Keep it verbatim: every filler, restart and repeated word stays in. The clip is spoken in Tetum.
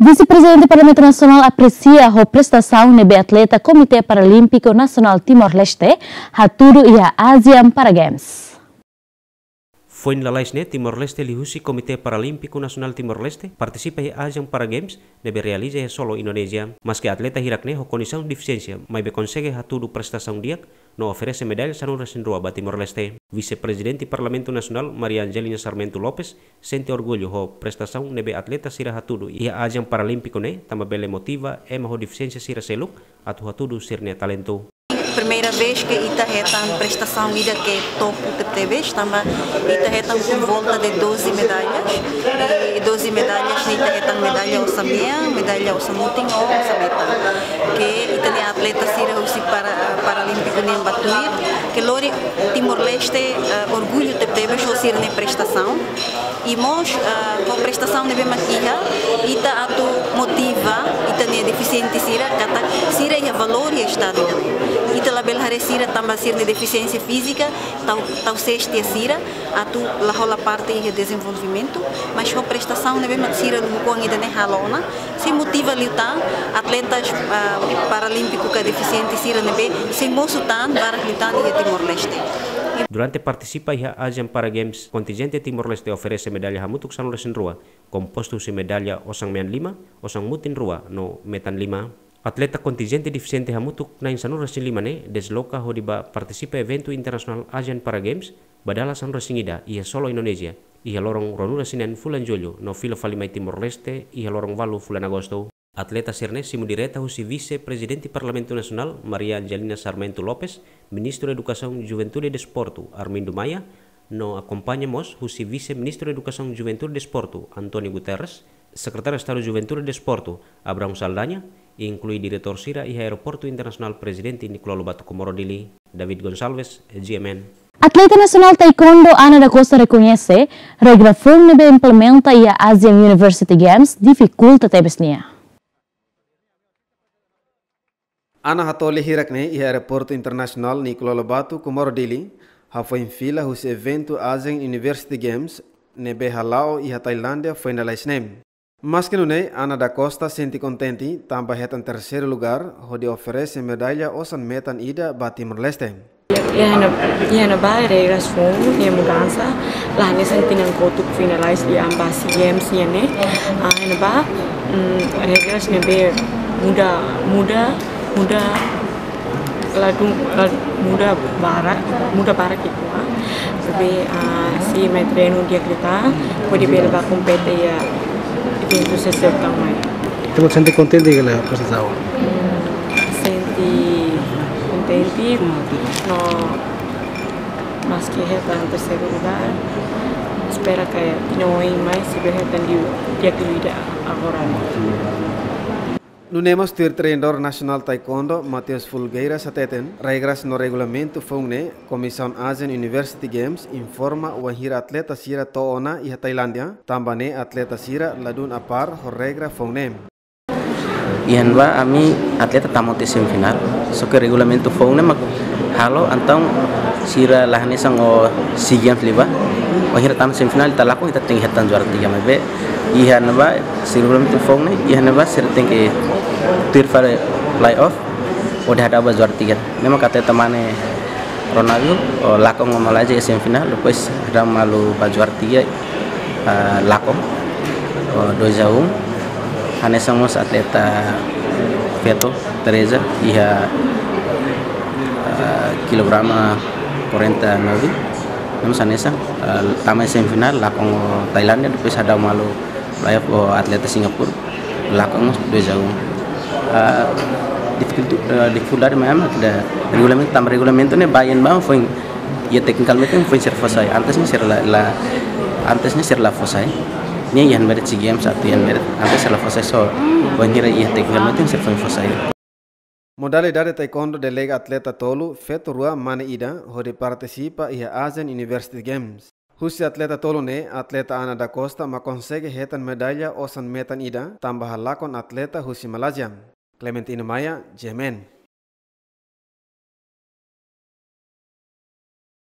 Vise-Prezidente Parlamentu Nasionál apresia ho prestasaun ne'ebé atleta Komité Paralímpiku Nasionál Timor-Leste hatudu iha ASEAN Para Games. Foin lalais ne'e, Timor-Leste liuhusi Komité Paralímpiku Nasionál Timor-Leste partisipa iha ASEAN Para Games ne'ebé realiza iha Solo, Indonézia. Maske atleta hirak ne'e ho kondisaun defisiénsia, maibé konsege hatudu prestasaun di'ak no oferese medalla sanulu-resin-rua ba Timor-Leste. Vise-Prezidente Parlamentu Nasionál, Maria Angelina Sarmento Lopes, sente orgullu ho prestasaun ne'ebé atleta sira hatudu iha ASEAN Paralímpiku ne'e, tanba bele motiva ema ho defisiénsia sira seluk atu hatudu sira-nia talentu. Primeira vez ke ita hetan prestasaun ida ke topu tebetebes, tanba ita hetan por volta de doze medallas, i doze medallas ne'e ita hetan medalla osan-mean, medalla osan-mutin no osan-metan. Ke ita-nia atleta sira husi para, Paralímpiku nian ba tuir, ke lori Timor-Leste, eh, orgullu tebetebes ho sira-nia prestasaun. I mós, eh, ho prestasaun ne'ebé mak iha, ita atu motiva ita-nia defisiente sira, katak sira iha valór iha estadu ida-ne'e. Ita labele haree sira tanba sira-nia defisiénsia fízika, tau, tau ses tiha sira, atu la hola parte iha dezenvolvimentu, mas ho prestasaun ne'ebé mak sira lubuk oan ida-ne'e halo ona, sei motiva liután atletas, ah, paralímpiku ka defisiente sira ne'ebé sei mosu tan barak liután iha Timor-Leste. Durante partisipa iha ASEAN Para Games, kontinjente Timor-Leste oferese medalla hamutuk sanulu-resin-rua, kompostu husi medalla osan-mean lima, osan-mutin rua, no metan lima. Atleta kontinjente defisiente hamutuk na'in sanulu-resin-lima ne'e desloka hodi bá partisipa eventu internasionál ASEAN Para Games ba dala sanulu-resin-ida iha Solo, Indonézia, iha loron ruanulu-resin-neen fulan Jullu, no fila fali mai Timor-Leste iha loron ualu fulan Agostu. Atleta sira-ne'e simu direta husi Vise-Prezidente Parlamentu Nasionál, Maria Angelina Sarmento Lopes, Ministru Edukasaun, Juventude i Desportu, Armindo Maia, no akompaña mós husi Vise-Ministru Edukasaun, Juventude i Desportu, António Guterres, Sekretáriu Estadu Juventude i Desportu, Abrão Saldanha, inklui diretór sira iha Aeroportu Internasionál Prezidente Nicolau Lobato Comoro Dili. David Gonçalves, GMN. Atleta nasionál taekwondo Ana da Costa rekoñese regra foun ne'ebé implementa iha ASEAN University Games difikulta tebes nia. Ana Hatoli hirak ne'e iha Aeroportu Internasionál Nicolau Lobato Comoro Dili, hafoin fila husi eventu ASEAN University Games ne'ebé hala'o iha Tailándia foin lalais ne'e. Maske nune'e, Ana da Costa sente kontente tanba hetan terseiru lugár hodi oferese medalla osan-metan ida ba Timor-Leste. Iha ne'e, iha ne'ebá regras foun, iha mudansa, la hanesan tinan kotuk finalize iha ASEAN Games nian ne'e. Ah, iha ne'ebá, mm, regras ne'ebé muda, muda, muda, ladún, la-, muda barak, muda barak uitoan. Tapi, ah, sei mai treinu di'ak liután, hodi bele bá kompete iha eventu seseu tan mai. Ita sente kontente ka lae prestasaun? Hmm, sente kontente, no maske hetan terseiru lugár, espera katak tinan oin mai sei bele hetan di'ak liu ida agora. Nune'e mós tuir treinadór nasionál taekwondo, Mateus Folgueiras hateten, regras no regulamentu foun ne'e, Komisaun ASEAN University Games informa wainhira atleta sira to'o ona iha Tailándia, tanba ne'e atleta sira ladún apár ho regra foun ne'e. Iha ne'ebá ami atleta tama tiha semifinál, só ke regulamentu foun ne'e mak halo, entaun sira la hanesan SEA Games liubá, wainhira tama semifinál ita lakon ita tenke hetan juara tiga, maibé iha ne'ebá, se regulamentu foun ne'e, iha ne'ebá sira tenke tuir fali playoff hodi hadau ba juara tiga. Ne'e mak atleta mane Ronaldo, o, lakon ho Malázia iha semifinál, depois hadau malu ba juara tiga, ah, lakon, o, dois a um. Hanesan mós atleta feto, Teresa, iha, ah, kilograma quarenta e nove. Ne'e mós hanesan, ah, tama iha semifinál, lakon ho Tailándia, depois hadau malu playoff ho atleta Singapura, lakon dois a um. Ah, difikultu-, ah, difikuldade maior mak iha regulamentu, tanba regulamentu ne'e ba iha ne'ebá foin, iha teknikalmente foin sira fó sai. Antes ne'e sira la, la, antes ne'e sira la fó sai. Ne'e iha ne'ebá SEA Games atu iha ne'ebá, antes sira la fó sai, só wainhira iha teknikalmente sira foin fó sai. Modalidade taekwondo delega atleta tolu, feto rua, mane ida, hodi partisipa iha ASEAN University Games. Husi atleta tolu ne'e, atleta Ana da Costa mak konsege hetan medalla osan-metan ida, tanba halakon atleta husi Malázia. Clementino Maia, GMN.